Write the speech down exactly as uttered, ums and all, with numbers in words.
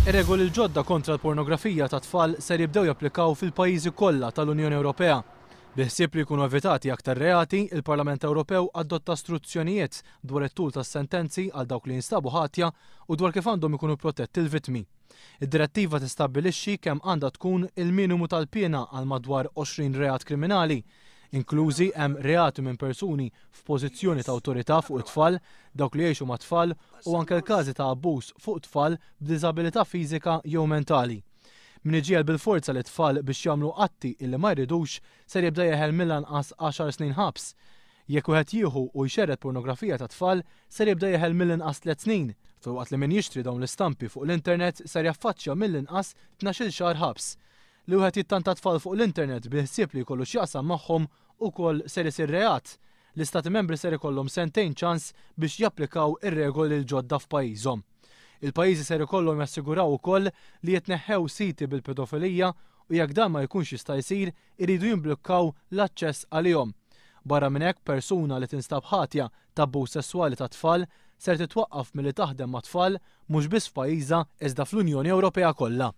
Ir-regoli l-ġodda kontra l-pornografija ta' tfal ser jibdew japplikaw fil-pajjiżi kollha tal-Unjoni Ewropea. Biħsieb li jkunu evitati aktar reati, il-Parlament Ewropew adotta struzzjonijiet dwar it-tul tas-sentenzi għal dawk li jinstabu ħatja u dwar kif għandhom ikunu protetti l-vittmi. Id-direttiva tistabbilixxi kemm għandha tkun il-minimu tal-piena għal madwar għoxrin reat kriminali. Inklużi hemm reati minn persuni f'pożizzjoni ta' awtorità fuq it-tfal, dawk li jgħixu ma' tfal u anke l-każi ta' abbuż fuq tfal b'diżabilità fiżika jew mentali. Min iġiegħel bil-forza li tfal biex jagħmlu atti illi ma jridux ser jibda jeħel mill-anqas għaxar snin ħabs. Jekk wieħed jieħu u jxerred pornografija ta' tfal ser jibda jeħel mill-inqas tliet snin, filwaqt li min jixtri dawn l-istampi fuq l-internet ser jaffaċċja mill-inqas tnax-il xahar ħabs. Li wieħed jittanta tfal fuq l-internet bil-ħsieb li jkollu x'jaqsam magħhom ukoll ser isir reat. L-istati membri ser ikollhom sentejn ċans biex japplikaw ir-regoli l-ġodda f'pajjiżhom. Il-pajjiżi ser ikollhom jassiguraw ukoll li jitneħħew siti bil-pedofilija u jekk dan ma jkunx jista' jsir iridu jimblukkaw l-aċċess għalihom. Barra minn hekk, persuna li tinstab ħatja ta' abbuż sesswali ta' tfal ser titwaqqaf milli taħdem ma' tfal mhux biss f'pajjiżha iżda fl-Unjoni Ewropea kollha.